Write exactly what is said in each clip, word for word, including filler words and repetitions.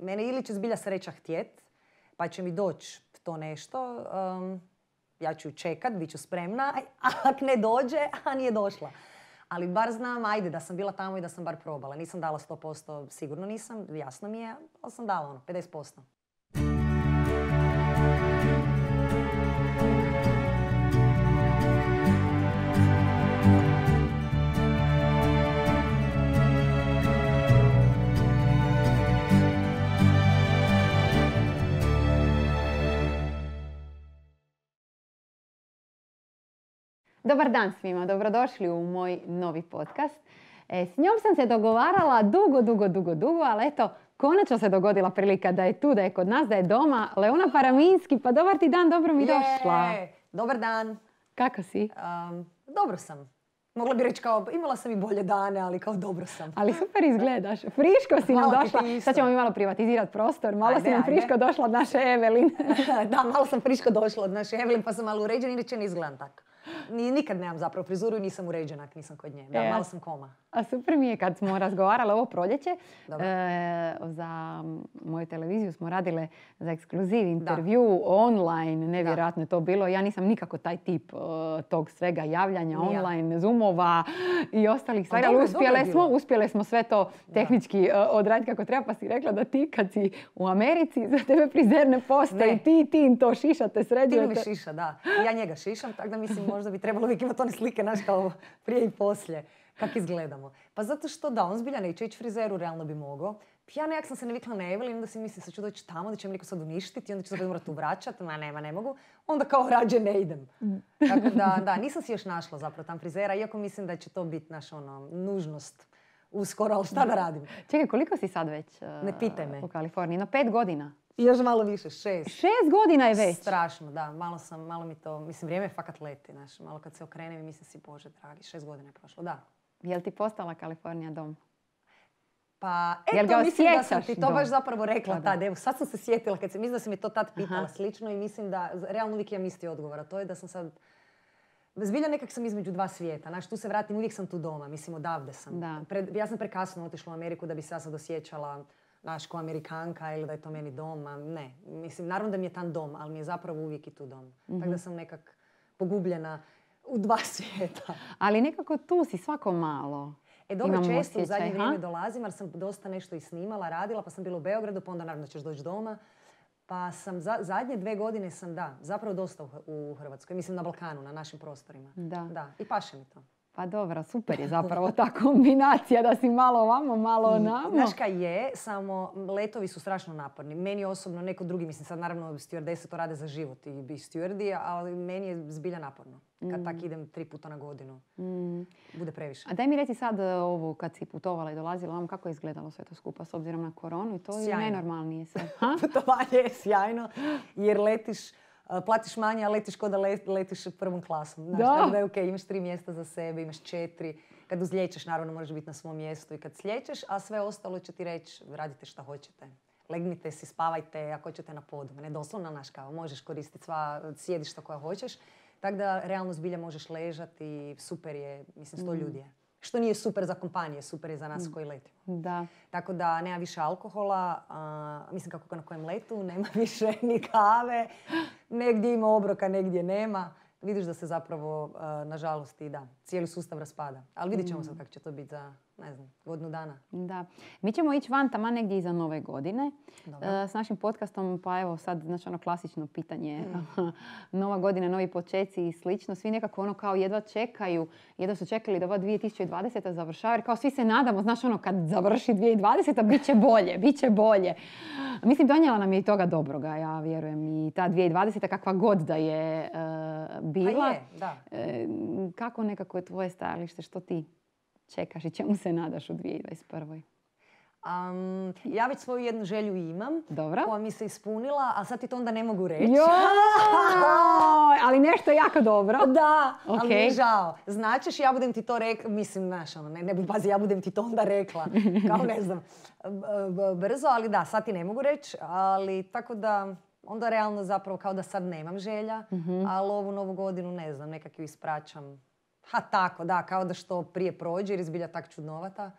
mene ili će zbilja sreća htjet, pa će mi doći to nešto, um, ja ću čekat, bit ću spremna, a ako ne dođe, a nije došla. Ali bar znam, ajde, da sam bila tamo i da sam bar probala. Nisam dala sto posto, sigurno nisam, jasno mi je, ali sam dala ono, pedeset posto. Dobar dan svima, dobrodošli u moj novi podcast. E, s njom sam se dogovarala dugo, dugo, dugo, dugo, ali eto, konačno se dogodila prilika da je tu, da je kod nas, da je doma. Leona Paraminski, pa dobar ti dan, dobro mi Je, došla. Dobar dan. Kako si? Um, dobro sam. Mogla bi reći kao, imala sam i bolje dane, ali kao dobro sam. Ali super izgledaš. Friško si nam Hvala došla. ti isto. Sad ćemo mi malo privatizirati prostor. Malo Ajde, si nam ajde. friško došla od naše Evelin. Da, malo sam friško došla od naše Evelin, pa sam malo uređena, inače ne izgledam tako. Ni, nikad nemam zapravo frizuru i nisam uređena ako nisam kod nje. Da, E, malo sam koma. A super mi je kad smo razgovarale ovo proljeće. Dobro. E, za moju televiziju smo radile za ekskluziv intervju online. Nevjerojatno je to bilo. Ja nisam nikako taj tip uh, tog svega javljanja Ni ja. online, zoomova i ostalih stvari. dobro Ali je, dobro je uspjele smo, bilo. uspjele smo sve to tehnički uh, odraditi kako treba. Pa si rekla da ti kad si u Americi za tebe frizer ne postoji. Ne. Ti, ti to šišate, Ti sređujete. mi šiša, da. Ja njega šišam, tako da mislim možda bi trebalo uvijek imati one slike, znaš, kao prije i poslije. Kako izgledamo. Pa zato što da, on zbilja neće ići frizeru, realno bi mogao. Ja nekak sam se navikla na Evelin, onda si mislim sad ću doći tamo, da će mi neko sad uništiti, onda ću se morati vraćati, ma nema, ne mogu. Onda kao rađe ne idem. Tako da, da, nisam si još našla zapravo tam frizera, iako mislim da će to biti naša ono, nužnost uskoro, ali šta da radim? Čekaj, koliko si sad već uh, Ne pitaj me. u Kaliforniji? No, pet godina. I još malo više, šest. Šest godina je već. Strašno, da. Malo sam, malo mi to, mislim, vrijeme fakat leti, znaš. Malo kad se okrenem i mislim si, Bože dragi, šest godina je prošlo, da. Jel ti postala Kalifornija dom? Pa, Jel eto, ga mislim da sam osjećaš ti to dom? baš zapravo rekla Pa da. tad. Evo, sad sam se sjetila, kad se, mislim da si mi to tad pitala Aha. slično i mislim da, realno uvijek imam isti odgovor, a to je da sam sad, zbilja nekak sam između dva svijeta. Znaš, tu se vratim, uvijek sam tu doma, mislim, odavde sam. Da. Pred, ja sam prekasno otišla u Ameriku da bi se ja sad osjećala, znaš, ko Amerikanka ili da je to meni dom, a ne. Mislim, naravno da mi je tam dom, ali mi je zapravo uvijek i tu dom. Mhm. Tako da sam nekak pogubljena u dva svijeta. Ali nekako tu si svako malo. E dobro, Imam često u osjećaj, zadnje ha? vrijeme dolazim, jer sam dosta nešto i snimala, radila, pa sam bila u Beogradu, pa onda naravno ćeš doći doma. Pa sam za, zadnje dve godine sam, da, zapravo dosta u, u Hrvatskoj. Mislim na Balkanu, na našim prostorima. Da. Da, i paše mi to. Pa dobro, super je zapravo ta kombinacija da si malo ovamo, malo onamo. Znaš kaj je, samo letovi su strašno naporni. Meni osobno, neko drugi, mislim sad naravno stewardese to rade za život i bi stewardi, ali meni je zbilja naporno. Kad Mm. tak idem tri puta na godinu, Mm. bude previše. A daj mi reci sad e, ovo kad si putovala i dolazila vam, kako je izgledalo sve to skupa s obzirom na koronu i to je Sjajno. najnormalnije sve. Ha? Putovanje je sjajno, jer letiš, uh, platiš manje, a letiš ko da let- letiš prvom klasom. Znaš, Da. tako da je okej, imaš tri mjesta za sebe, imaš četiri. Kad uzlječeš, naravno, moraš biti na svom mjestu i kad slijećeš, a sve ostalo će ti reći, radite šta hoćete. Legnite si, spavajte, ako hoćete na podu. Ne doslovno, naš kao, možeš koristiti sva sjedišta koja hoćeš. Tako da, realno zbilja možeš ležati i super je, mislim, sto ljudi je. Što nije super za kompanije, super je za nas koji letimo. Da. Tako da nema više alkohola, a, mislim kako na kojem letu, nema više ni kave, negdje ima obroka, negdje nema. Vidiš da se zapravo, a, nažalost, i da, cijeli sustav raspada. Ali vidjet ćemo sad kako će to biti za, ne znam, godinu dana. Da. Mi ćemo ići van taman negdje iza nove godine Dobro. e, s našim podcastom, pa evo sad znači ono klasično pitanje, nova godina, novi počeci i slično. Svi nekako ono kao jedva čekaju, jedva su čekali da ova dvije tisuće dvadeseta završava, jer kao svi se nadamo, znaš ono kad završi dvije tisuće dvadeseta bit će bolje, bit će bolje. Mislim, donijela nam je i toga dobroga, ja vjerujem, i ta dvije tisuće dvadeseta kakva god da je e, bila. A je, da. E, kako nekako je tvoje stajalište, što ti čekaš i čemu se nadaš u dvije tisuće dvadeset prvoj. Um, ja već svoju jednu želju imam, Dobro. koja mi se ispunila, a sad ti to onda ne mogu reći. Joj, ali nešto je jako dobro. Da, ali mi je Ok. žao. Značeš, ja budem ti to rekla, mislim, znaš, ono, ne, ne budi pazi, ja budem ti to onda rekla, kao ne znam, b- b- brzo, ali da, sad ti ne mogu reći, ali tako da, onda realno zapravo kao da sad nemam želja, ali ovu novu godinu, ne znam, nekak ju ispraćam. Ha tako, da, kao da što prije prođe jer je zbilja tak čudnovata.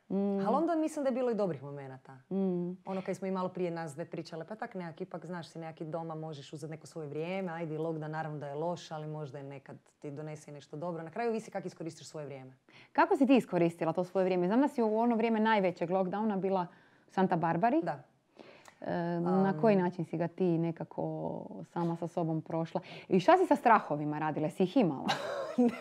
Mm. Ali onda mislim da je bilo i dobrih momenata. Mm. Ono kad smo i malo prije nas dve pričale, pa tak nekak, ipak znaš si nekaki doma, možeš uzeti neko svoje vrijeme, ajde i lockdown naravno da je loš, ali možda je nekad ti donese nešto dobro. Na kraju visi kako iskoristiš svoje vrijeme. Kako si ti iskoristila to svoje vrijeme? Znam da si u ono vrijeme najvećeg lockdowna bila u Santa Barbari. Da. E, na koji način si ga ti nekako sama sa sobom prošla? I šta si sa strahovima radila? Si ih imala?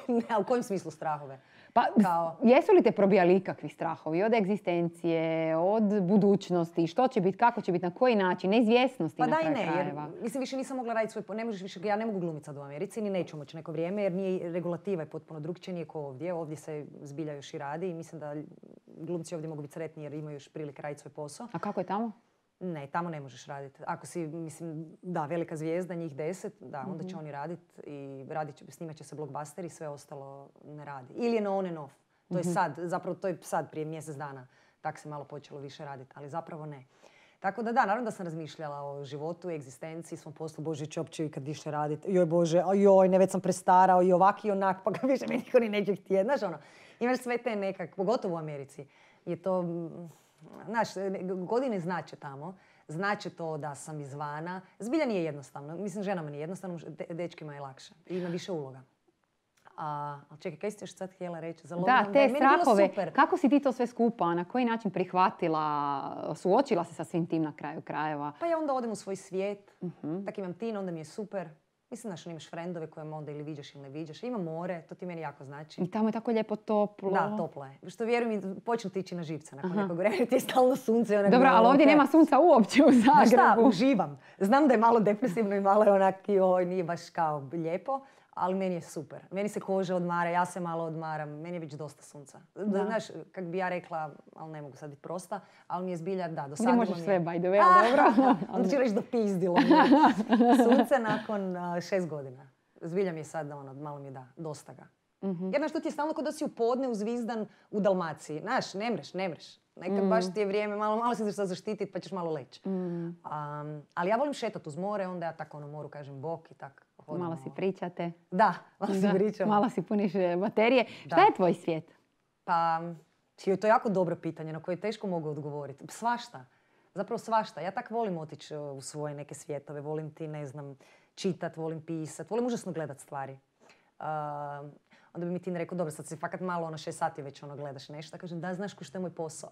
Ne, a u kojem smislu strahove? Pa, Kao... jesu li te probijali ikakvi strahovi? Od egzistencije, od budućnosti, što će biti, kako će biti, na koji način, neizvjesnosti pa na kraju ne, krajeva? Jer, mislim, više nisam mogla raditi svoj... Ne možeš više, ja ne mogu glumiti sad u Americi, ni neću moći neko vrijeme, jer nije, regulativa je potpuno drugčija, nije ko ovdje. Ovdje se zbilja još i radi i mislim da glumci ovdje mogu biti sretni jer imaju još prilike raditi svoj posao. A kako je tamo? Ne, tamo ne možeš raditi. Ako si, mislim, da, velika zvijezda, njih deset, da, onda će oni raditi i radit će, snimat će se blockbuster i sve ostalo ne radi. Ili je na on and off. To je sad, zapravo to je sad prije mjesec dana. Tak se malo počelo više raditi, ali zapravo ne. Tako da da, naravno da sam razmišljala o životu, egzistenciji, svom poslu, Bože, će uopće ikad više raditi. Joj Bože, joj, ne, već sam prestarao i ovak i onak, pa ga više me niko ni neće htjeti. Znaš, ono, imaš sve te nekak, pogotovo u Americi, je to... Znaš, godine znače tamo, znače to da sam izvana. Zbilja nije jednostavno. Mislim, ženama nije jednostavno, de- dečkima je lakše. Ima više uloga. A, ali čekaj, kaj ste još sad htjela reći? Za da, te strahove. Kako si ti to sve skupa, na koji način prihvatila, suočila se sa svim tim na kraju krajeva? Pa ja onda odem u svoj svijet, uh-huh. tak imam tin, onda mi je super. Mislim, znaš, imaš frendove koje onda ili viđaš ili ne viđaš. Ima more, to ti meni jako znači. I tamo je tako lijepo toplo. Da, toplo je. Što vjerujem, počnu ti ići na živce nakon nekog vremena. Ti je stalno sunce. Onak dobro, ali ovdje nema sunca uopće u Zagrebu. Šta, uživam. Znam da je malo depresivno i malo je onak, joj, nije baš kao lijepo. Ali meni je super. Meni se koža odmara, ja se malo odmaram. Meni je već dosta sunca. Da. Znaš, kak bi ja rekla, ali ne mogu sad biti prosta, ali mi je zbilja, da, dosadilo mi je. Ti možeš sve, by the way, ali dobro. Onda ću reći dopizdilo mi sunce nakon uh, šest godina. Zbilja mi je sad, ono, malo mi je da, dosta ga. Mm-hmm. Jer znaš, to ti je stalno kod da si u podne uzvizdan u Dalmaciji. Znaš, ne mreš, ne mreš. Nekad mm. baš ti je vrijeme, malo, malo se ćeš zaštititi pa ćeš malo leći. Mm. Um, ali ja volim šetati uz more, onda ja tako ono moru kažem bok i tak. Hodamo. Malo si pričate. Da, malo si pričamo. Malo si puniš baterije. Da. Šta je tvoj svijet? Pa, to je jako dobro pitanje na koje teško mogu odgovoriti. Svašta. Zapravo svašta. Ja tak volim otići u svoje neke svjetove. Volim ti, ne znam, čitat, volim pisat. Volim užasno gledat stvari. Uh, onda bi mi Tin rekao, dobro, sad si fakat malo, ono šest sati već ono gledaš nešto. Kažem, da, znaš ko što je moj posao.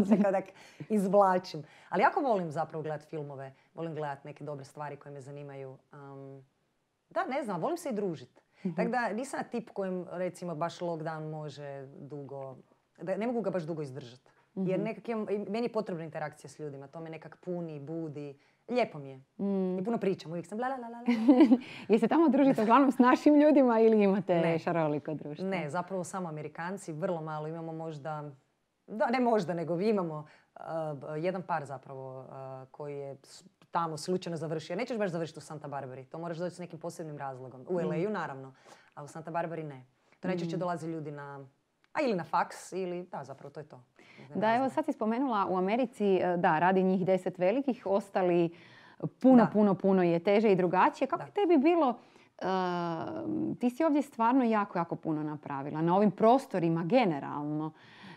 Se kao tak izvlačim. Ali jako volim zapravo gledat filmove. Volim gledat neke dobre stvari koje me zanimaju. Um, da, ne znam, volim se i družiti. Mm-hmm. Tako da nisam tip kojem, recimo, baš lockdown može dugo... Da, ne mogu ga baš dugo izdržati. Mm-hmm. Jer nekak imam, meni je potrebna interakcija s ljudima. To me nekak puni, budi. Lijepo mi je. Mm. I puno pričam. Uvijek sam la la la la. Jeste tamo družite uglavnom s našim ljudima ili imate ne. šaroliko društvo? Ne, zapravo samo Amerikanci. Vrlo malo. Imamo možda... Da, ne možda, nego imamo uh, jedan par zapravo uh, koji je tamo slučajno završio. Nećeš baš završiti u Santa Barbari. To moraš doći s nekim posebnim razlogom. U L A-u naravno, a u Santa Barbari ne. To najčešće dolaze ljudi na... A ili na faks, ili... Da, zapravo to je to. Da, evo sad si spomenula u Americi, da, radi njih deset velikih, ostali puno, da. puno, puno je teže i drugačije. Kako da. tebi bilo... Uh, ti si ovdje stvarno jako, jako puno napravila. Na ovim prostorima generalno.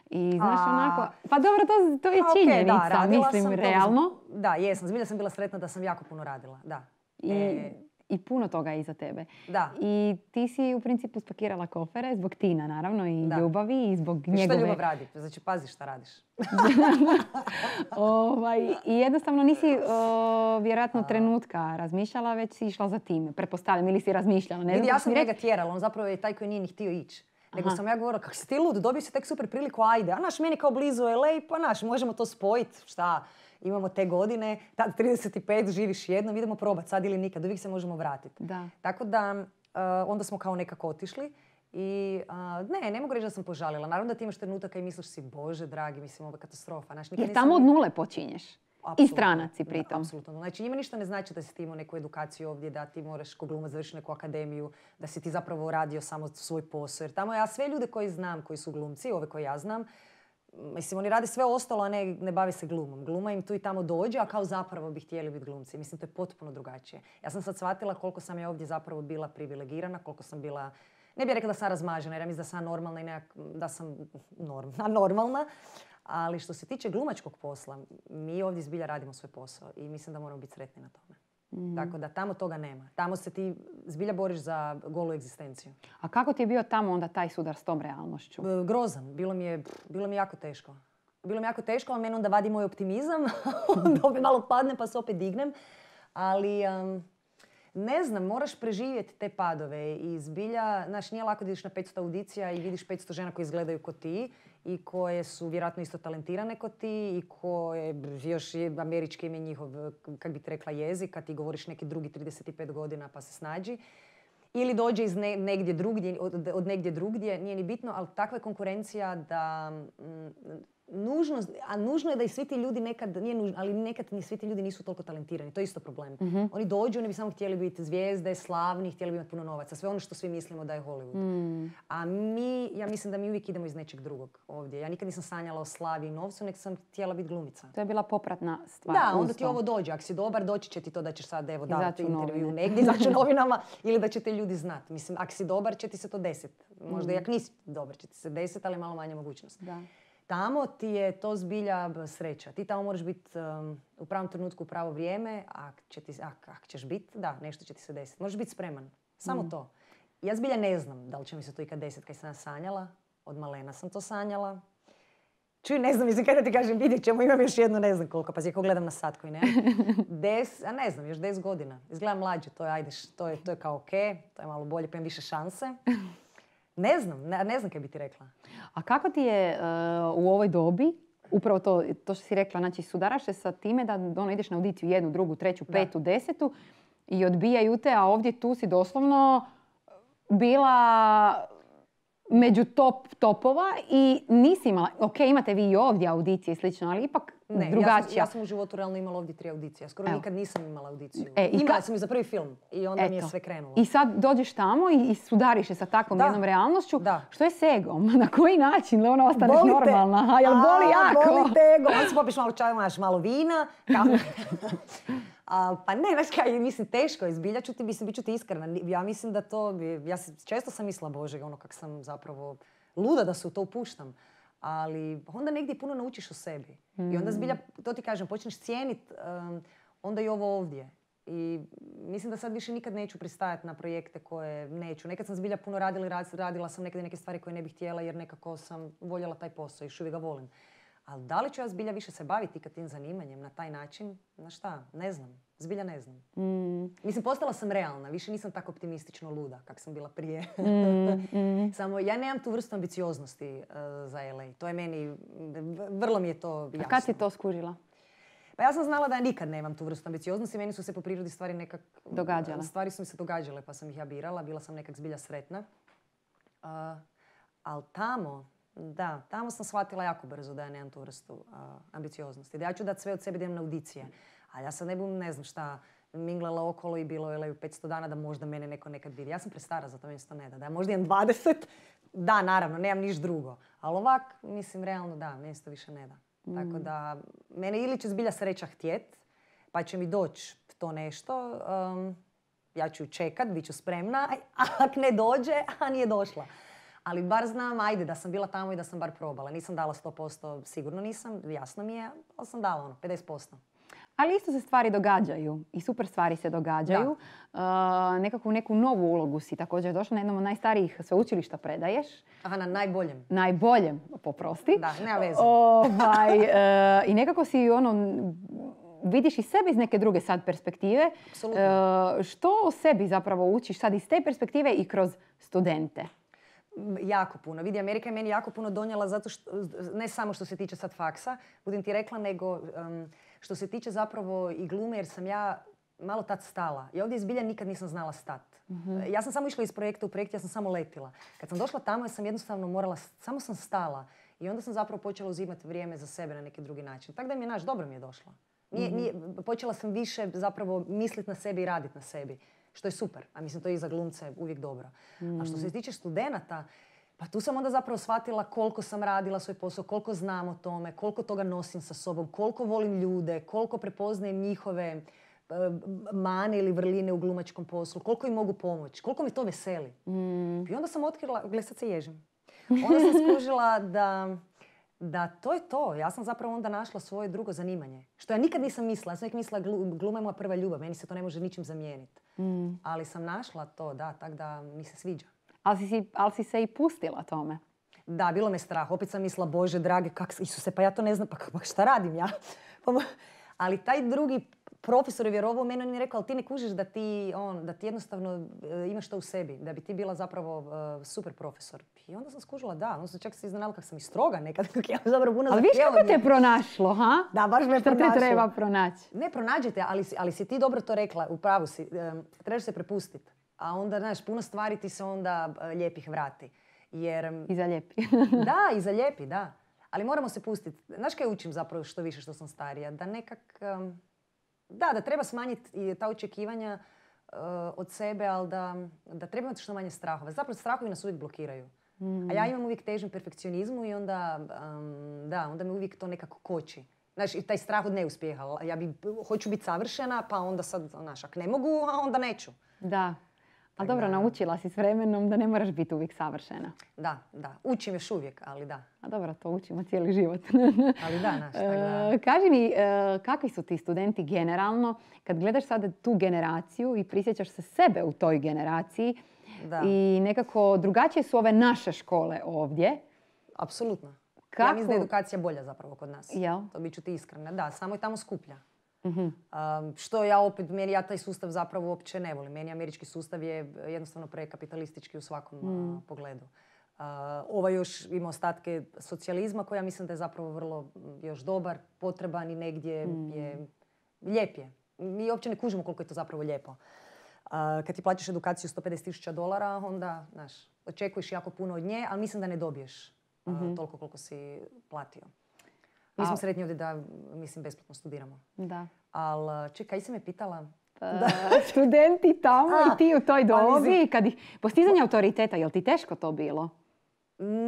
I znaš A, onako... Pa dobro, to, to je činjenica, okay, da, mislim, realno. Sam, da, jesam. Zbilja sam bila sretna da sam jako puno radila, da. I, e, i puno toga je iza tebe. Da. I ti si u principu spakirala kofere zbog Tina, naravno, i da. ljubavi i zbog I njegove... Šta ljubav radi? Znači, pazi šta radiš. ovaj, I jednostavno nisi uh, vjerojatno trenutka razmišljala, već si išla za time, pretpostavljam, ili si razmišljala. Ne Vidi, znam, ja sam njega tjerala, on zapravo je taj koji nije ni htio ići. Nego Aha. sam ja govorila, kak si ti lud, dobio si tek super priliku, ajde. A naš, meni kao blizu L A, pa naš, možemo to spojiti, šta, imamo te godine, tad trideset pet, živiš jednom, idemo probati sad ili nikad, uvijek se možemo vratiti. Da. Tako da, uh, onda smo kao nekako otišli i uh, ne, ne mogu reći da sam požalila. Naravno da ti imaš trenutaka i misliš si, Bože dragi, mislim, ovo je katastrofa. Naš, jer tamo od nule počinješ. Absolutno. I stranaci pritom. Da, apsolutno. Znači, njima ništa ne znači da si ti imao neku edukaciju ovdje, da ti moraš ko glumac završiti neku akademiju, da si ti zapravo radio samo svoj posao. Jer tamo ja sve ljude koji znam, koji su glumci, ove koje ja znam, mislim, oni rade sve ostalo, a ne, ne bave se glumom. Gluma im tu i tamo dođe, a kao zapravo bi htjeli biti glumci. Mislim, to je potpuno drugačije. Ja sam sad shvatila koliko sam ja ovdje zapravo bila privilegirana, koliko sam bila... ne bih rekla da sam razmažena, jer ja mislim da sam normalna i nekak, da sam norm, normalna. Ali što se tiče glumačkog posla, mi ovdje zbilja radimo svoj posao i mislim da moramo biti sretni na tome. Mm. Tako da tamo toga nema. Tamo se ti zbilja boriš za golu egzistenciju. A kako ti je bio tamo onda taj sudar s tom realnošću? Grozan. Bilo mi je, bilo mi je jako teško. Bilo mi jako teško, ali meni onda vadi moj optimizam. Onda opet malo padne pa se opet dignem. Ali um, ne znam, moraš preživjeti te padove. I zbilja, znaš, nije lako da ideš na petsto audicija i vidiš petsto žena koje izgledaju ko ti i koje su vjerojatno isto talentirane ko ti i koje još je američki ime njihov, kak bi ti rekla, jezik, kad ti govoriš neki drugi trideset pet godina pa se snađi. Ili dođe iz ne, negdje drugdje, od, od negdje drugdje, nije ni bitno, ali takva je konkurencija da... Mm, Nužno, a nužno je da i svi ti ljudi nekad, nije nužno, ali nekad ni svi ti ljudi nisu toliko talentirani. To je isto problem. Mm-hmm. Oni dođu, oni bi samo htjeli biti zvijezde, slavni, htjeli bi imati puno novaca. Sve ono što svi mislimo da je Hollywood. Mm. A mi, ja mislim da mi uvijek idemo iz nečeg drugog ovdje. Ja nikad nisam sanjala o slavi i novcu, nek sam htjela biti glumica. To je bila popratna stvar. Da, onda ti ovo dođe. Ako si dobar, doći će ti to da ćeš sad evo dati intervju negdje, izaći u novinama ili da će te ljudi znati. Mislim, ako si dobar, će ti se to desiti. Možda mm. i ako nisi dobar, će ti se desiti, ali malo manje mogućnost. Da. Tamo ti je to zbilja sreća. Ti tamo moraš biti um, u pravom trenutku u pravo vrijeme, a će ti, ak, ak ćeš biti, da, nešto će ti se desiti. Možeš biti spreman. Samo mm. to. Ja zbilja ne znam da li će mi se to ikad desiti kad sam sanjala. Od malena sam to sanjala. Čuj, ne znam, mislim kada ti kažem, vidjet ćemo, imam još jedno, ne znam koliko, pa ako gledam na sat koji ne. Des, a ne znam, još deset godina. Izgledam mlađe, to je, ajde, to je, to je kao ok, to je malo bolje, pa imam više šanse. Ne znam, ne, ne znam kaj bi ti rekla. A kako ti je uh, u ovoj dobi, upravo to, to što si rekla, znači sudaraš se sa time da ono, ideš na audiciju jednu, drugu, treću, petu, da. desetu i odbijaju te, a ovdje tu si doslovno bila među top topova i nisi imala, ok, imate vi i ovdje audicije i slično, ali ipak ne, drugačija. Ja sam, ja sam u životu realno imala ovdje tri audicije. Ja skoro Evo. nikad nisam imala audiciju. E, imala ka... sam i za prvi film i onda Eto. mi je sve krenulo. I sad dođeš tamo i, i sudariš se sa takvom da. jednom realnošću. Da. Što je s egom? Na koji način da ona ostaneš boli normalna? A jel boli A, jako? Boli te ego. Onda se popiš malo čaja, imaš malo vina. A, pa ne, znaš kaj, mislim, teško je, zbilja ću ti, mislim, bit ću ti iskrena. Ja mislim da to, ja često sam mislila, Bože, ono kak sam zapravo luda da se u to upuštam. Ali onda negdje puno naučiš o sebi. Mm. I onda zbilja, to ti kažem, počneš cijeniti um, onda i ovo ovdje. I mislim da sad više nikad neću pristajati na projekte koje neću. Nekad sam zbilja puno radila i radila sam nekad neke stvari koje ne bih htjela jer nekako sam voljela taj posao i još uvijek ga volim. Ali da li ću ja zbilja više se baviti ikad tim zanimanjem na taj način? Na šta? Ne znam. Zbilja ne znam. Mm. Mislim, postala sam realna. Više nisam tako optimistično luda kak sam bila prije. Mm, mm. Samo ja nemam tu vrstu ambicioznosti uh, za L A. To je meni, vrlo mi je to jasno. A kad si to skužila? Pa ja sam znala da ja nikad nemam tu vrstu ambicioznosti. Meni su se po prirodi stvari nekak... Događale. Stvari su mi se događale pa sam ih ja birala. Bila sam nekak zbilja sretna. Uh, ali tamo... Da, tamo sam shvatila jako brzo da ja nemam tu vrstu uh, ambicioznosti. Da ja ću dati sve od sebe da idem na audicije. A ja sad ne bum, ne znam šta, minglala okolo i bilo je petsto dana da možda mene neko nekad vidi. Ja sam prestara za to, meni se to ne da. Da ja možda imam dvadeset, da, naravno, nemam niš drugo. Ali ovak, mislim, realno da, meni se to više ne da. Mm. Tako da, mene ili će zbilja sreća htjet, pa će mi doći to nešto. Um, ja ću čekat, bit ću spremna, a ako ne dođe, a nije došla. Ali bar znam, ajde, da sam bila tamo i da sam bar probala. Nisam dala sto posto, sigurno nisam, jasno mi je, ali sam dala ono, pedeset posto. Ali isto se stvari događaju i super stvari se događaju. Uh, nekako u neku novu ulogu si također došla, na jednom od najstarijih sveučilišta predaješ. Aha, na najboljem. Najboljem, poprosti. Da, nema veze. Ovaj, uh, I nekako si ono... vidiš i sebe iz neke druge sad perspektive. Apsolutno. Uh, što o sebi zapravo učiš sad iz te perspektive i kroz studente? Jako puno. Vidi, Amerika je meni jako puno donijela zato što, ne samo što se tiče sad faksa, budem ti rekla, nego um, što se tiče zapravo i glume, jer sam ja malo tad stala. Ja ovdje izbilja nikad nisam znala stat. Mm-hmm. Ja sam samo išla iz projekta u projekt, ja sam samo letila. Kad sam došla tamo, ja sam jednostavno morala, samo sam stala. I onda sam zapravo počela uzimati vrijeme za sebe na neki drugi način. Tako da mi je, naš, dobro mi je došla. Nije, nije, počela sam više zapravo misliti na sebi i raditi na sebi. Što je super. A mislim, to je i za glumce uvijek dobro. Mm. A što se tiče studenata, pa tu sam onda zapravo shvatila koliko sam radila svoj posao, koliko znam o tome, koliko toga nosim sa sobom, koliko volim ljude, koliko prepoznajem njihove mane ili vrline u glumačkom poslu, koliko im mogu pomoći, koliko mi to veseli. Mm. I onda sam otkrila, gle sad se ježim, onda sam skužila da, da to je to. Ja sam zapravo onda našla svoje drugo zanimanje. Što ja nikad nisam mislila. Ja sam uvijek mislila gluma je moja prva ljubav, meni se to ne može ničim zamijeniti. Mm. Ali sam našla to, da, tako da mi se sviđa. Ali si, ali si se i pustila tome? Da, bilo me strah. Opet sam mislila, Bože drage, kak, Isuse, pa ja to ne znam, pa, pa šta radim ja? Ali taj drugi profesor je vjerovao u mene, on mi je rekao, ali ti ne kužiš da ti, on, da ti jednostavno e, imaš to u sebi, da bi ti bila zapravo e, super profesor. I onda sam skužila, da, onda sam čak se iznenala kako sam i stroga nekad, kako ja zapravo puno ali viš kako te pronašlo, ha? Da, baš me što pronašlo. Te treba pronaći? Ne, pronađite, ali, ali si ti dobro to rekla, u pravu si, e, trebaš se prepustiti. A onda, znaš, puno stvari ti se onda e, lijepih vrati. Jer, I zalijepi. Da, i zalijepi, da. Ali moramo se pustiti. Znaš kaj učim zapravo što više što sam starija? Da nekak... Um, da, da treba smanjiti ta očekivanja uh, od sebe, ali da, da treba imati što manje strahova. Zapravo strahovi nas uvijek blokiraju. Mm. A ja imam uvijek težnju perfekcionizmu i onda, um, da, onda me uvijek to nekako koči. Znaš, i taj strah od neuspjeha. Ja bi, hoću biti savršena, pa onda sad, znaš, ako ne mogu, a onda neću. Da. Ali dobro, da. Naučila si s vremenom da ne moraš biti uvijek savršena. Da, da. Učim još uvijek, ali da. A dobro, to učimo cijeli život. Ali da, naš, da. Kaži mi, kakvi su ti studenti generalno, kad gledaš sada tu generaciju i prisjećaš se sebe u toj generaciji da. I nekako drugačije su ove naše škole ovdje. Apsolutno. Kako? Ja mislim da je edukacija bolja zapravo kod nas. Jel? To bit ću ti iskrena. Da, samo je tamo skuplja. Uh-huh. Um, što ja opet, meni ja taj sustav zapravo uopće ne volim. Meni američki sustav je jednostavno prekapitalistički u svakom mm. uh, pogledu. Uh, ovaj još ima ostatke socijalizma koji ja mislim da je zapravo vrlo još dobar, potreban i negdje mm. je lijep je. Mi uopće ne kužimo koliko je to zapravo lijepo. Uh, kad ti plaćaš edukaciju sto pedeset tisuća dolara, onda, znaš, očekuješ jako puno od nje, ali mislim da ne dobiješ uh, mm-hmm. toliko koliko si platio. Mi smo sretni ovdje da, mislim, besplatno studiramo. Da. Ali, čekaj, si me pitala? Pa, studenti tamo A, i ti u toj dobi, kad ih, postizanje autoriteta, je li ti teško to bilo?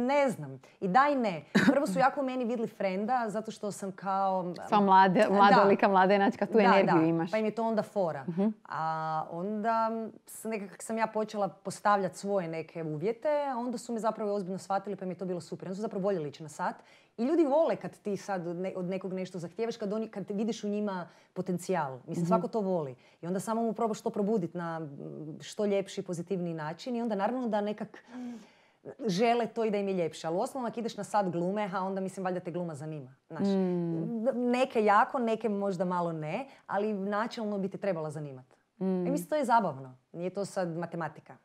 Ne znam. I da i ne. Prvo su jako u meni vidjeli frenda, zato što sam kao... Sva mlade, mladolika, mladenačka, tu da, energiju da. Imaš. Pa im je to onda fora. Uh-huh. A onda, nekako sam ja počela postavljati svoje neke uvjete, a onda su me zapravo ozbiljno shvatili, pa mi je to bilo super. Onda su zapravo voljeli ići na sat. I ljudi vole kad ti sad od nekog nešto zahtijevaš, kad, oni, kad vidiš u njima potencijal. Mislim, mm-hmm. svako to voli. I onda samo mu probaš to probuditi na što ljepši, pozitivniji način. I onda naravno da nekak žele to i da im je ljepše. Ali u osnovu ako ideš na sat glume, a onda mislim valjda te gluma zanima. Znaš, mm. Neke jako, neke možda malo ne, ali načelno bi te trebala zanimati. Mm. I mislim, to je zabavno. Nije to sad matematika.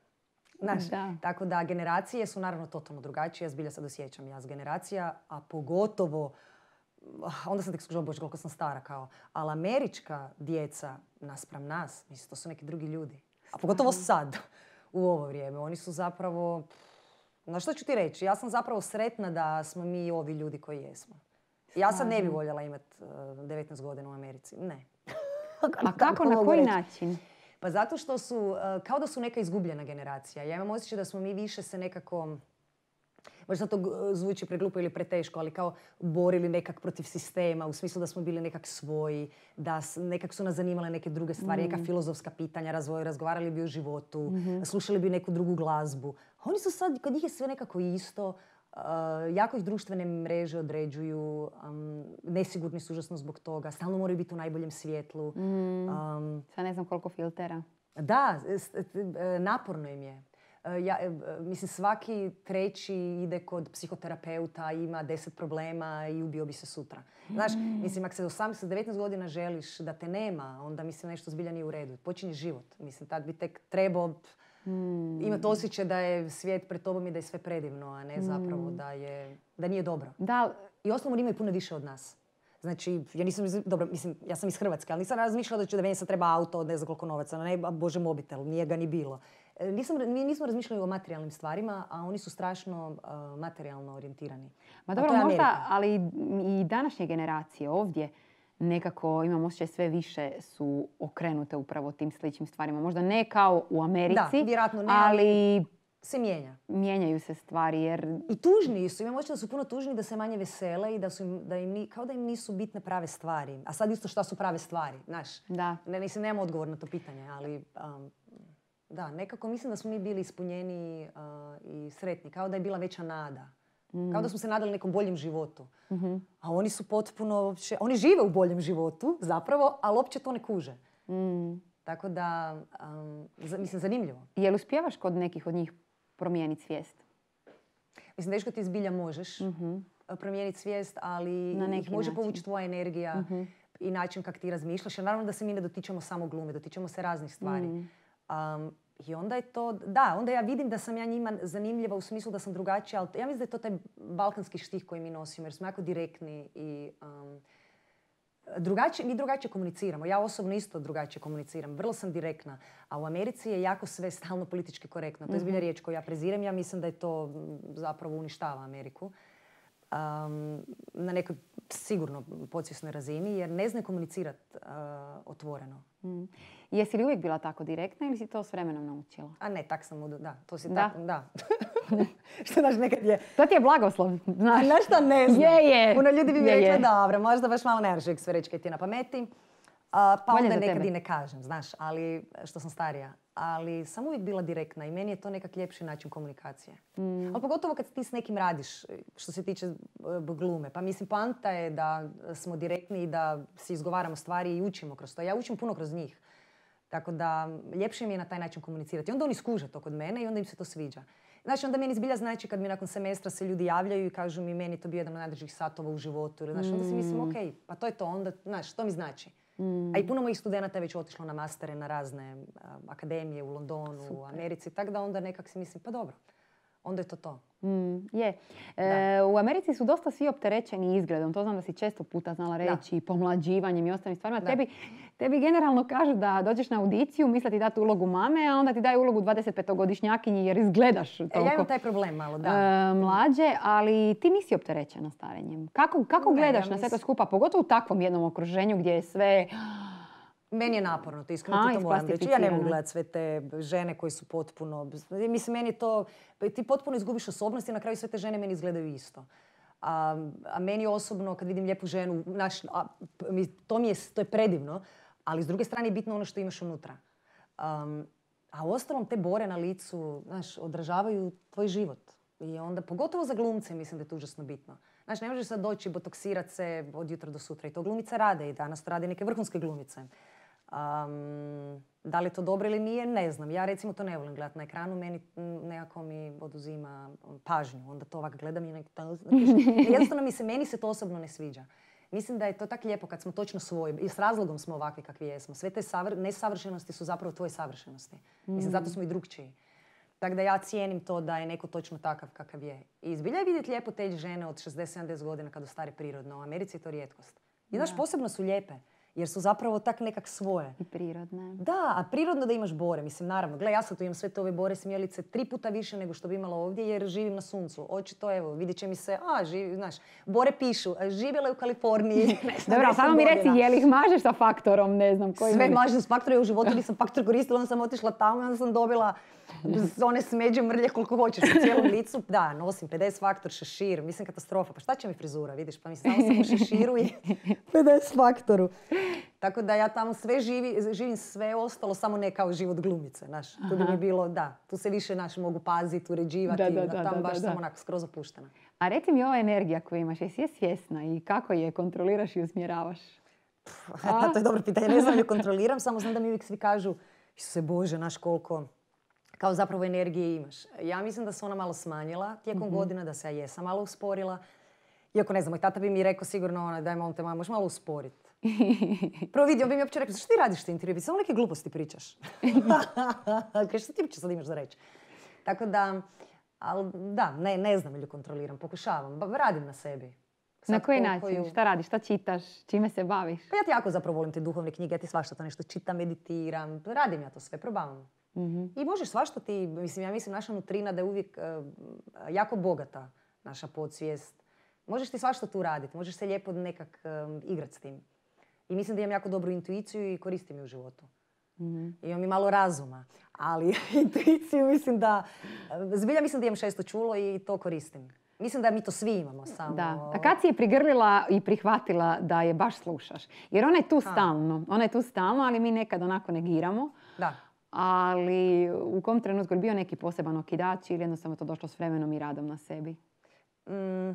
Znaš, da. Tako da generacije su naravno totalno drugačije. Ja zbilja sad osjećam jaz generacija, a pogotovo, onda sam tek skužila, bože, koliko sam stara kao, ali američka djeca naspram nas, mislim, to su neki drugi ljudi. A pogotovo sad, u ovo vrijeme. Oni su zapravo, na što ću ti reći, ja sam zapravo sretna da smo mi ovi ljudi koji jesmo. Ja sad ne bi voljela imati devetnaest godina u Americi. Ne. A kako, na koji reći? Način? Pa zato što su, kao da su neka izgubljena generacija. Ja imam osjećaj da smo mi više se nekako, možda to zvuči preglupo ili preteško, ali kao borili nekak protiv sistema, u smislu da smo bili nekak svoji, da nekak su nas zanimale neke druge stvari, mm. neka filozofska pitanja, razvoj, razgovarali bi o životu, mm-hmm. slušali bi neku drugu glazbu. A oni su sad, kod njih je sve nekako isto, uh, jako ih društvene mreže određuju, um, nesigurni su užasno zbog toga, stalno moraju biti u najboljem svjetlu. Mm. Um, Sad ne znam koliko filtera. Da, naporno im je. Ja, mislim, svaki treći ide kod psihoterapeuta, ima deset problema i ubio bi se sutra. Znaš, mm. mislim, ako se do osamnaest devetnaest godina želiš da te nema, onda mislim nešto zbilja nije u redu. Počinje život. Mislim, tad bi tek trebao mm. imati osjećaj da je svijet pred tobom i da je sve predivno, a ne zapravo da, je, da nije dobro. Da. I osnovno imaju puno više od nas. Znači, ja nisam, dobro, mislim, ja sam iz Hrvatske, ali nisam razmišljala da će da meni sad treba auto od ne znam koliko novaca, ne, bože, mobitel, nije ga ni bilo. Nisam, mi nismo razmišljali o materijalnim stvarima, a oni su strašno uh, materijalno orijentirani. Ma dobro, možda, ali i današnje generacije ovdje nekako, imam osjećaj, sve više su okrenute upravo tim sličnim stvarima. Možda ne kao u Americi, da, vjerojatno ne, ali se mijenja. Mijenjaju se stvari jer... I tužniji su. Imam očito da su puno tužniji, da se manje vesele i da su im, da im, ni- kao da im nisu bitne prave stvari. A sad isto šta su prave stvari, znaš. Da. Ne, mislim, nemam odgovor na to pitanje, ali um, da, nekako mislim da smo mi bili ispunjeni uh, i sretni. Kao da je bila veća nada. Mm. Kao da smo se nadali nekom boljem životu. Mm-hmm. A oni su potpuno, uopće, oni žive u boljem životu zapravo, ali uopće to ne kuže. Mm. Tako da, um, za, mislim, zanimljivo. Jel uspijevaš kod nekih od njih promijeniti svijest? Mislim, teško ti zbilja možeš Mm-hmm. promijeniti svijest, ali Na neki ih može način. povući tvoja energija Mm-hmm. i način kako ti razmišljaš. Jer naravno da se mi ne dotičemo samo glume, dotičemo se raznih stvari. Mm. Um, I onda je to, da, onda ja vidim da sam ja njima zanimljiva u smislu da sam drugačija, ali ja mislim da je to taj balkanski štih koji mi nosimo, jer smo jako direktni i um, drugačije, mi drugačije komuniciramo. Ja osobno isto drugačije komuniciram. Vrlo sam direktna. A u Americi je jako sve stalno politički korektno. To je zbilja riječ koju ja prezirem. Ja mislim da je to zapravo uništava Ameriku. Um, na nekoj sigurno podsvjesnoj razini, jer ne zna komunicirati uh, otvoreno. Mm. Jesi li uvijek bila tako direktna ili si to s vremenom naučila? A ne, tak sam, da, to si Da. tako, da. Što znaš, nekad je... To ti je blagoslov, znaš. Znaš šta ne znam? Je, je. Puno ljudi bi mi Je, rekla, je. dobro, možda baš malo ne možeš uvijek sve reći kaj ti je na pameti. A, pa Bolje onda za nekad tebe. i ne kažem, znaš, ali što sam starija. Ali sam uvijek bila direktna i meni je to nekak ljepši način komunikacije. Mm. Ali pogotovo kad ti s nekim radiš, što se tiče uh, glume. Pa mislim, poanta je da smo direktni i da si izgovaramo stvari i učimo kroz to. Ja učim puno kroz njih. Tako da ljepše mi je na taj način komunicirati. I onda oni skuže to kod mene i onda im se to sviđa. Znači, onda meni zbilja znači kad mi nakon semestra se ljudi javljaju i kažu mi meni je to bio jedan od najdražih satova u životu. Ili, znaš, onda si mislim, ok, pa to je to, onda, znaš, to mi znači. Mm. A i puno mojih studenata je već otišlo na mastere, na razne uh, akademije u Londonu, Super. u Americi. Tako da onda nekak si mislim, pa dobro, onda je to to. Mm, je. E, u Americi su dosta svi opterećeni izgledom. To znam da si često puta znala reći, pomlađivanjem i ostalim stvarima. Tebi, tebi generalno kažu da dođeš na audiciju, misle ti dati ulogu mame, a onda ti daju ulogu dvadesetpetogodišnjakinji jer izgledaš toliko E, ja imam taj problem malo, da. e, mlađe, ali ti nisi opterećena starenjem. Kako, kako Ne, gledaš ja na sve to mislim- skupa, pogotovo u takvom jednom okruženju gdje je sve... Meni je naporno, to iskreno A, ti to moram reći. Ja ne mogu isplastificirano. gledati sve te žene koji su potpuno... Mislim, meni je to... Ti potpuno izgubiš osobnost i na kraju sve te žene meni izgledaju isto. A, a meni osobno, kad vidim lijepu ženu, naš, a, mi- to, mi je, to je predivno, ali s druge strane je bitno ono što imaš unutra. Um, a uostalom te bore na licu, znaš, odražavaju tvoj život. I onda, pogotovo za glumce, mislim da je to užasno bitno. Znaš, ne možeš sad doći i botoksirat se od jutra do sutra. I to glumice rade i danas to rade neke vrhunske glumice. Um, da li je to dobro ili nije, ne znam. Ja recimo to ne volim gledati na ekranu, meni mm, nekako mi oduzima pažnju. Onda to ovak gledam i nek... Jednostavno mi se, meni se to osobno ne sviđa. Mislim da je to tako lijepo kad smo točno svoji i s razlogom smo ovakvi kakvi jesmo. Sve te savr- nesavršenosti su zapravo tvoje savršenosti. Mislim, zato smo i drukčiji. Tako da ja cijenim to da je neko točno takav kakav je. I zbilja je vidjeti lijepo te žene od šezdeset sedamdeset godina kad ostare prirodno. U Americi je to rijetkost. I znaš, posebno su lijepe. Jer su zapravo tak nekak svoje. I prirodne. Da, a prirodno da imaš bore. Mislim, naravno, gle, ja sad tu imam sve te ove bore smjelice tri puta više nego što bi imala ovdje jer živim na suncu. Očito, evo, vidjet će mi se, a, živi, znaš, bore pišu, a, živjela je u Kaliforniji. Dobro, samo mi reci, je li ih mažeš sa faktorom, ne znam koji... Sve mažem s faktorom, ja u životu nisam faktor koristila, onda sam otišla tamo i onda sam dobila one smeđe mrlje koliko hoćeš u cijelom licu. Da, nosim pedeset faktor, šešir, mislim katastrofa. Pa šta će mi frizura, vidiš? Pa mislim, samo sam u šeširu i pedeset faktoru. Tako da ja tamo sve živi, živim sve ostalo, samo ne kao život glumice, znaš. Tu bi mi bilo, da, tu se više, naš, mogu paziti, uređivati, Da, da, da, da, tamo da, baš da, samo da. onako skroz opuštena. A reci mi, ova energija koju imaš, jesi je svjesna i kako je kontroliraš i usmjeravaš? A? To je dobro pitanje, ne znam ju kontroliram, samo znam da mi uvijek svi kažu, Isuse Bože, naš koliko, kao zapravo energije imaš. Ja mislim da se ona malo smanjila tijekom Mhm. godina, da se ja jesam malo usporila. Iako ne znam, moj tata bi mi rekao sigurno, ona, daj molim te, mama, možeš malo usporiti. Prvo vidi, on bi mi uopće rekao, zašto ti radiš te intervjue? Samo neke gluposti pričaš. Kaj, što ti uopće sad imaš za reći? Tako da, ali da, ne, ne znam ili kontroliram, pokušavam, ba- radim na sebi. Sad Na koji koliko način? ju- Šta radiš? Šta čitaš? Čime se baviš? Pa ja ti jako zapravo volim te duhovne knjige, ja ti svašta to nešto čitam, meditiram, radim ja to sve, probavam. Mhm. I možeš svašta ti, mislim, ja mislim naša nutrina da je uvijek eh, jako bogata, naša podsvijest. Možeš ti svašta tu raditi, možeš se lijepo nekak um, igrati s tim. I mislim da imam jako dobru intuiciju i koristim ju u životu. Mm-hmm. Imam i malo razuma. Ali intuiciju mislim da... Zbilja mislim da imam šesto čulo i to koristim. Mislim da mi to svi imamo samo... Da. A kad si je prigrlila i prihvatila da je baš slušaš? Jer ona je tu ha. stalno. Ona je tu stalno, ali mi nekad onako negiramo. Da. Ali u kom trenutku je bio neki poseban okidač ili jednostavno to došlo s vremenom i radom na sebi? Mm,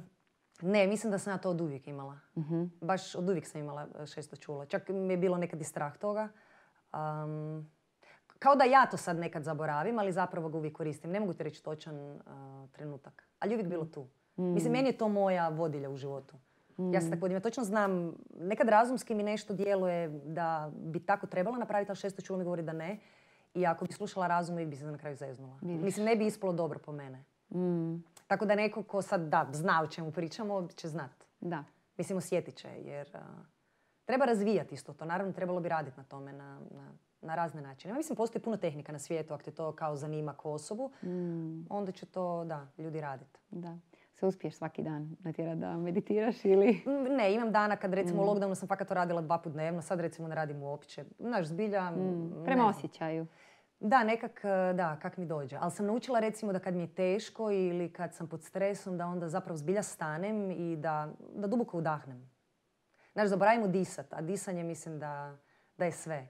ne, mislim da sam ja to od uvijek imala. Mm-hmm. Baš od uvijek sam imala šesto čulo. Čak mi je bilo nekad i strah toga. Um, kao da ja to sad nekad zaboravim, ali zapravo ga uvijek koristim. Ne mogu ti reći točan uh, trenutak. Ali uvijek bilo tu. Mm. Mislim, meni je to moja vodilja u životu. Mm. Ja se tako vodim. Ja točno znam, nekad razumski mi nešto djeluje da bi tako trebalo napraviti, ali šesto čulo mi govori da ne. I ako bi slušala razum, uvijek bi se na kraju zeznula. Vidiš. Mislim, ne bi ispalo dobro po mene. Mm. Tako da neko ko sad da, zna o čemu pričamo, će znat. Da. Mislim, osjetit će, jer uh, treba razvijati isto to. Naravno, trebalo bi raditi na tome na, na, na razne načine. Ja mislim, postoji puno tehnika na svijetu, ako te to kao zanima kao osobu, mm. onda će to, da, ljudi raditi. Da. Se uspiješ svaki dan natjerati da meditiraš ili... Ne, imam dana kad recimo mm. u lockdownu sam fakat to radila dva put dnevno, sad recimo ne radim uopće. Znaš, zbilja... Mm. Prema osjećaju. Da, nekak, da, kak mi dođe. Ali sam naučila recimo da kad mi je teško ili kad sam pod stresom, da onda zapravo zbilja stanem i da, da duboko udahnem. Znaš, zaboravim udisat, a disanje mislim da, da je sve.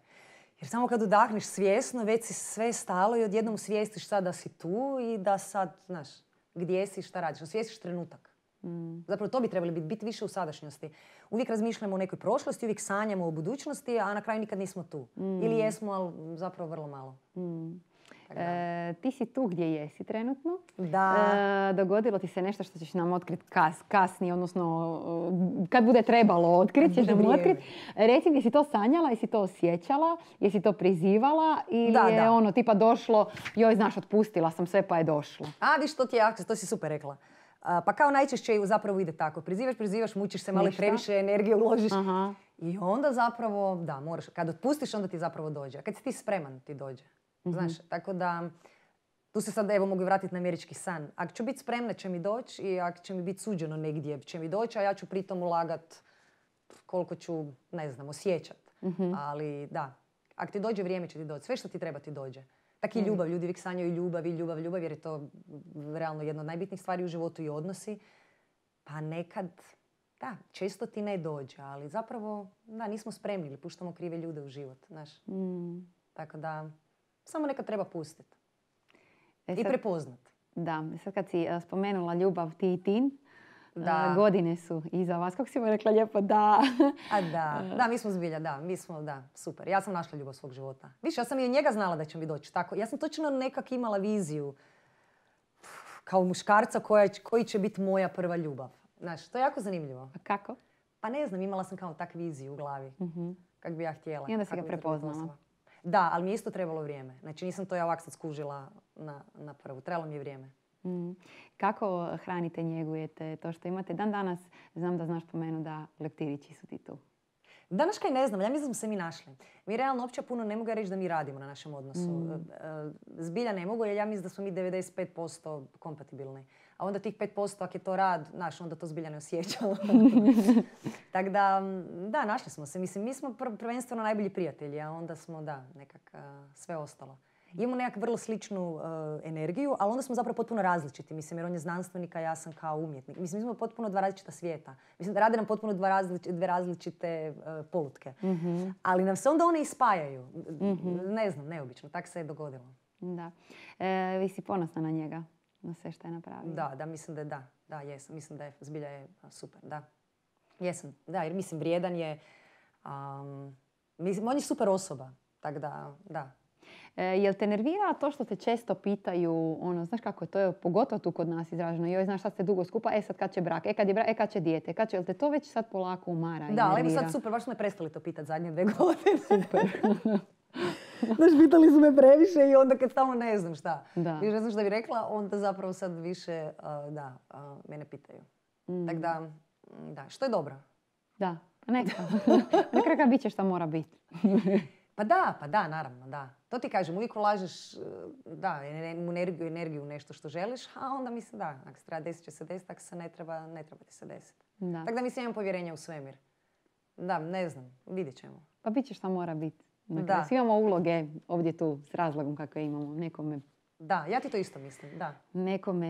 Jer samo kad udahneš svjesno, već si sve stalo i odjednom svijestiš sad da si tu i da sad, znaš, gdje si, šta radiš. Osvijestiš trenutak. Mm. Zapravo to bi trebali biti, biti više u sadašnjosti. Uvijek razmišljamo o nekoj prošlosti, uvijek sanjamo o budućnosti, a na kraju nikad nismo tu. Mm. Ili jesmo, ali zapravo vrlo malo. Mm. E, ti si tu gdje jesi trenutno. Da. E, dogodilo ti se nešto što ćeš nam otkriti kas, kasnije, odnosno kad bude trebalo otkriti, ćeš nam otkriti. Reci mi, jesi to sanjala, jesi to osjećala, jesi to prizivala ili da, je da. ono tipa došlo, joj znaš, otpustila sam sve pa je došlo. A, viš, to ti je akcija, to si super rekla. A, pa kao najčešće zapravo ide tako. Prizivaš, prizivaš, mučiš se, malo previše energije uložiš. Aha. I onda zapravo, da, moraš, kad otpustiš, onda ti zapravo dođe. A kad si ti spreman, ti dođe. Mm-hmm. Znaš, tako da, tu se sad evo mogu vratiti na američki san. Ako ću biti spremna, će mi doći i ako će mi biti suđeno negdje, će mi doći, a ja ću pritom ulagat koliko ću, ne znam, osjećat. Mm-hmm. Ali da, ako ti dođe vrijeme, će ti doći. Sve što ti treba ti dođe. Tako i ljubav. Ljudi uvijek sanjaju ljubav i ljubav, ljubav, jer je to realno jedna od najbitnijih stvari u životu i odnosi. Pa nekad, da, često ti ne dođe, ali zapravo, da, nismo spremni ili puštamo krive ljude u život, znaš. Mm. Tako da, samo nekad treba pustiti. E i sad, prepoznati. Da, sad kad si spomenula ljubav ti i Tin, Da. godine su iza vas. Kako si mu rekla lijepo da? A da, da, mi smo zbilja, da, mi smo, da, super. Ja sam našla ljubav svog života. Više, ja sam i od njega znala da će mi doći tako. Ja sam točno nekak imala viziju kao muškarca koja, koji će biti moja prva ljubav. Znaš, to je jako zanimljivo. A kako? Pa ne znam, imala sam kao tak viziju u glavi. Mm-hmm. Kak bi ja htjela. I onda si ga prepoznala. Da, ali mi je isto trebalo vrijeme. Znači nisam to ja ovak sad skužila na, na prvu. Trebalo mi je vrijeme. Mm. Kako hranite, njegujete to što imate? Dan danas znam da znaš po menu da leptirići su ti tu. Danas kaj ne znam, ja mislim da smo se mi našli. Mi realno uopće puno ne mogu reći da mi radimo na našem odnosu. Mm. Zbilja ne mogu jer ja mislim da smo mi devedeset pet posto kompatibilni. A onda tih pet posto ako je to rad, znaš, onda to zbilja ne osjećamo. Tako da, da, našli smo se. Mislim, mi smo prvenstveno najbolji prijatelji, a onda smo, da, nekak uh, sve ostalo. Imamo nekak vrlo sličnu uh, energiju, ali onda smo zapravo potpuno različiti. Mislim, jer on je znanstvenik, a ja sam kao umjetnik. Mislim, mi smo potpuno dva različita svijeta. Mislim, da rade nam potpuno dva različite, dve različite uh, polutke. Mm-hmm. Ali nam se onda one ispajaju. Mm-hmm. Ne znam, neobično. Tak se je dogodilo. Da. E, vi si ponosna na njega, na sve što je napravio? Da, da, mislim da je da. Da, jesam. Mislim da je zbilja je super, da. Jesam, da, jer mislim, vrijedan je. Um, mislim, on je super osoba. Tako da, da. E, jel te nervira to što te često pitaju, ono, znaš kako je to, je pogotovo tu kod nas izraženo, joj, znaš, sad ste dugo skupa, e sad kad će brak, e kad je brak, e kad će dijete, kad će, jel te to već sad polako umara i da, nervira? ali evo sad super, baš smo me prestali to pitati zadnje dve godine. Super. Znaš, pitali su me previše i onda kad stalno ne znam šta. Da. I ne znam šta bi rekla, onda zapravo sad više, uh, da, uh, mene pitaju. Mm. Tako da, da, što je dobro. Da, neka. Na kraju bit će šta mora biti. Pa da, pa da, naravno, da. To ti kažem, uvijek ulažeš, da, energiju, energiju u nešto što želiš, a onda mislim da, ako se treba desiti će se desiti, ako se ne treba, ne treba ti se desiti. Tako da mislim imam povjerenja u svemir. Da, ne znam, vidjet ćemo. Pa bit će šta mora biti. Dakle, svi imamo uloge ovdje tu s razlogom kakve imamo. Nekome, da, ja ti to isto mislim, da. Nekome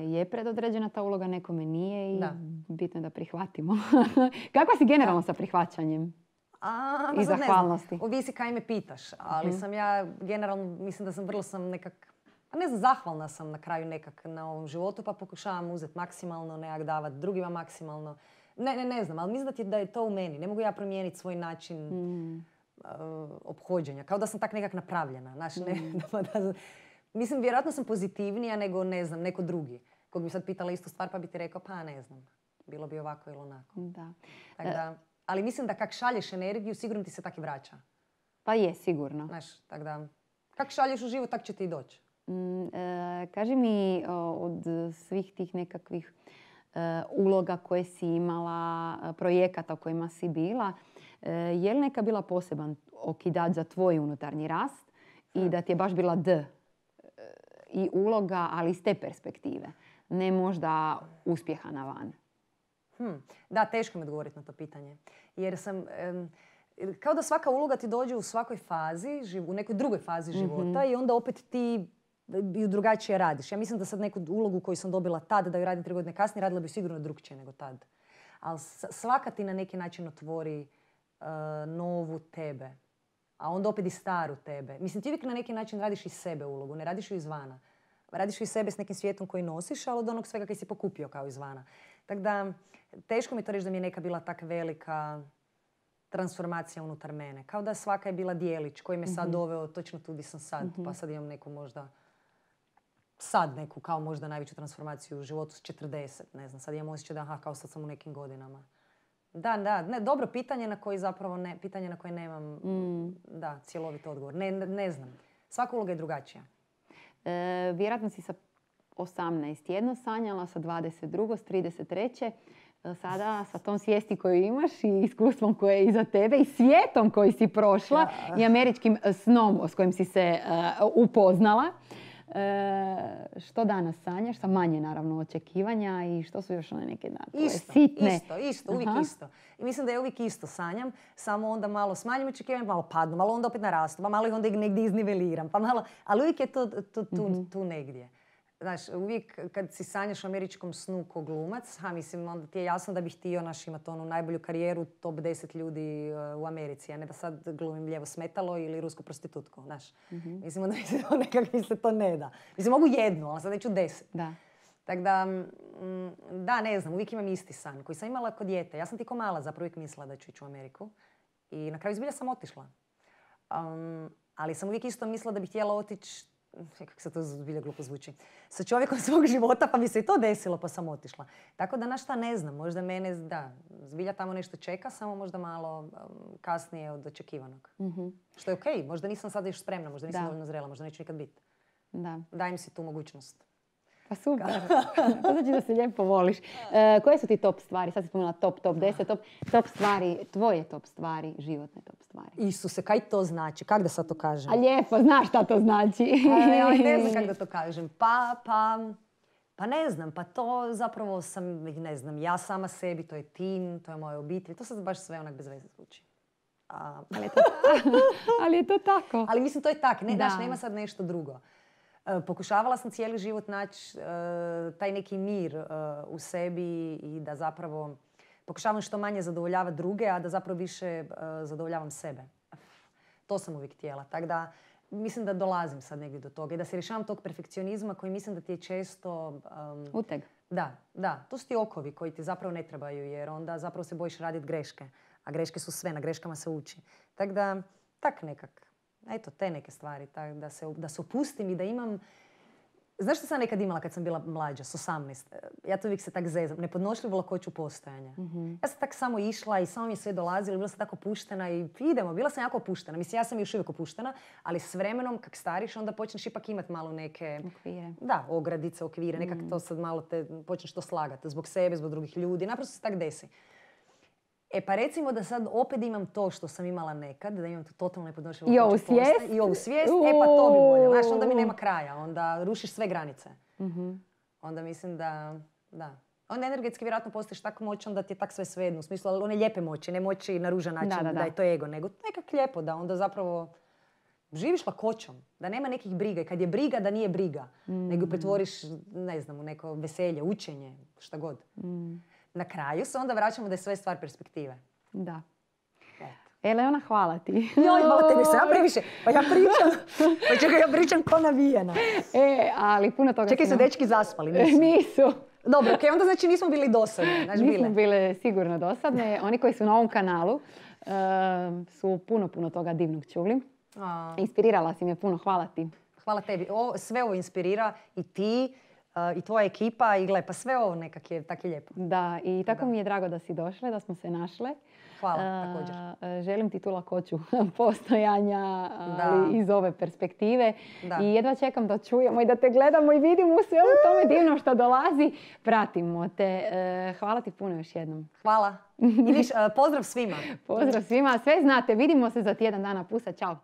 je predodređena ta uloga, nekome nije i da. bitno je da prihvatimo. Kakva si generalno da. sa prihvaćanjem? A, i zahvalnosti? Ovisi kaj me pitaš, ali mm. sam ja generalno, mislim da sam vrlo sam nekak, pa ne znam, zahvalna sam na kraju nekak na ovom životu, pa pokušavam uzeti maksimalno, nekak davati drugima maksimalno. Ne, ne, ne znam, ali mislim da, ti, da je to u meni. Ne mogu ja promijeniti svoj način mm. uh, ophođenja. Kao da sam tak nekak napravljena. Znaš, ne, mm. da, da, mislim, vjerojatno sam pozitivnija nego, ne znam, neko drugi. Kog bi sad pitala istu stvar pa bi ti rekao, pa ne znam, bilo bi ovako ili onako. Da. Tak da, ali mislim da kak šalješ energiju, sigurno ti se tak i vraća. Pa je, sigurno. Znaš, tak da, kak šalješ u život, tak će ti i doći. Mm, e, kaži mi o, od svih tih nekakvih e, uloga koje si imala, projekata u kojima si bila, e, je li neka bila poseban okidač za tvoj unutarnji rast i da ti je baš bila D i uloga, ali iz te perspektive, ne možda uspjeha na van? Hmm. Da, teško mi odgovoriti na to pitanje. Jer sam, um, kao da svaka uloga ti dođe u svakoj fazi, u nekoj drugoj fazi života mm-hmm. i onda opet ti ju drugačije radiš. Ja mislim da sad neku ulogu koju sam dobila tad, da ju radim tri godine kasnije, radila bi sigurno drugčije nego tad. Ali svaka ti na neki način otvori uh, novu tebe. A onda opet i staru tebe. Mislim, ti uvijek na neki način radiš iz sebe ulogu, ne radiš ju izvana. Radiš ju iz sebe s nekim svijetom koji nosiš, ali od onog svega koji si pokupio kao izvana. Tako da, teško mi to reći da mi je neka bila tak velika transformacija unutar mene. Kao da svaka je bila dijelić koji me sad mm-hmm. doveo točno tu gdje sam sad. Mm-hmm. Pa sad imam neku možda, sad neku kao možda najveću transformaciju u životu s četrdeset. Ne znam, sad imam osjećaj da aha, kao sad sam u nekim godinama. Da, da, ne, dobro pitanje na koje zapravo ne, pitanje na koje nemam mm. da, cjelovit odgovor. Ne, ne, ne znam. Svaka uloga je drugačija. E, vjerojatno si sa osamnaest jedno sanjala, sa dvadeset dva, s trideset tri. Sada sa tom svijesti koju imaš i iskustvom koje je iza tebe i svijetom koji si prošla ja. i američkim snom s kojim si se uh, upoznala. E, što danas sanjaš? Sa manje, naravno, očekivanja i što su još one neke dane? Isto, sitne. isto, isto, uvijek Aha. isto. I mislim da ja uvijek isto sanjam, samo onda malo smanjim očekivanja, malo padnu, malo onda opet narastu, pa malo ih onda negdje izniveliram, pa malo, ali uvijek je to, to tu, mm-hmm. tu negdje. Znaš, uvijek kad si sanjaš o američkom snu ko glumac, ha, mislim, onda ti je jasno da bih htio naš imati onu najbolju karijeru, top deset ljudi uh, u Americi, a ne da sad glumim lijevo smetalo ili rusku prostitutku, znaš. Mm-hmm. Mislim, onda mi se to nekak mi se to ne da. Mislim, mogu jednu, ali sad neću deset. Da. Tako da, mm, da, ne znam, uvijek imam isti san koji sam imala kod dijete. Ja sam ti ko mala zapravo uvijek mislila da ću ići u Ameriku i na kraju zbilja sam otišla. Um, ali sam uvijek isto mislila da bih htjela otići, kako se to zbilja glupo zvuči, sa čovjekom svog života, pa mi se i to desilo, pa sam otišla. Tako da, na šta ne znam, možda mene, da, zbilja tamo nešto čeka, samo možda malo um, kasnije od očekivanog. Mm-hmm. Što je okej, okay. Možda nisam sada još spremna, možda nisam da. dovoljno zrela, možda neću nikad biti. Da. Dajem si tu mogućnost. Pa super, to znači da se lijepo voliš. E, koje su ti top stvari? Sad si spomenula top, top deset, top, top stvari, tvoje top stvari, životne top stvari. Isuse, kaj to znači? Kako da sad to kažem? A lijepo, znaš šta to znači. E, ne znam kako da to kažem. Pa, pa, pa ne znam, pa to zapravo sam, ne znam, ja sama sebi, to je tim, to je moja obitelj. To sad baš sve onak bez veze zvuči. A, ali, je to, ali je to tako. Ali mislim, to je tak, ne, znaš, nema sad nešto drugo. Pokušavala sam cijeli život naći uh, taj neki mir uh, u sebi i da zapravo pokušavam što manje zadovoljavati druge, a da zapravo više uh, zadovoljavam sebe. To sam uvijek htjela. Tako da mislim da dolazim sad negdje do toga i da se rješavam tog perfekcionizma koji mislim da ti je često... Um, Uteg. Da, da. To su ti okovi koji ti zapravo ne trebaju jer onda zapravo se bojiš raditi greške. A greške su sve, na greškama se uči. Tako da, tak nekak. Eto, te neke stvari, tak, da, se, da se opustim i da imam... Znaš što sam nekad imala kad sam bila mlađa, s osamnaest? Ja to uvijek se tak zezam, nepodnošljivu lakoću postojanja. Mm-hmm. Ja sam tak samo išla i samo mi je sve dolazilo, bila sam tako opuštena i idemo, bila sam jako opuštena. Mislim, ja sam još uvijek opuštena, ali s vremenom, kak stariš, onda počneš ipak imati malo neke... Okvire. Da, ogradice, okvire, nekak mm. to sad malo te počneš to slagati. Zbog sebe, zbog drugih ljudi, naprosto se tak desi. E pa recimo da sad opet imam to što sam imala nekad, da imam to totalno nepodnošljivo. I ovu svijest. I ovu svijest, e pa to bi bolje. Znaš, onda mi nema kraja, onda rušiš sve granice. Mm-hmm. Onda mislim da, da. onda energetski vjerojatno postaješ tako moćan da ti je tak sve svejedno. U smislu, ali one lijepe moći, ne moći na ružan način Da, da, da, da. je to ego, nego nekak lijepo da onda zapravo živiš lakoćom. Da nema nekih briga. I kad je briga, da nije briga. Mm. Nego pretvoriš, ne znam, u neko veselje, učenje, šta god. Mm. Na kraju se onda vraćamo da je sve stvar perspektive. Da. Eto. Eleona, hvala ti. Joj, hvala tebi, sam ja previše. Pa ja pričam, pa čekaj, ja pričam ko navijena. E, ali puno toga... Čekaj, su dečki zaspali, nisu? Nisu. Dobro, okej, okay, onda znači nismo bili dosadne. Znači, nismo bile. bile sigurno dosadne. Oni koji su na ovom kanalu uh, su puno, puno toga divnog čuli. A. Inspirirala si me puno, hvala ti. Hvala tebi. O, sve ovo inspirira i ti, uh, i tvoja ekipa, i gle, pa sve ovo nekak je, tak je lijepo. Da, i tako Da. mi je drago da si došle, da smo se našle. Hvala, Uh, također. Želim ti tu lakoću postojanja, Da. ali iz ove perspektive. Da. I jedva čekam da čujemo i da te gledamo i vidimo sve u tome divno što dolazi. Pratimo te. Uh, hvala ti puno još jednom. Hvala. I viš, uh, pozdrav svima. Pozdrav svima. Sve znate. Vidimo se za tjedan dana. Pusa. Ćao.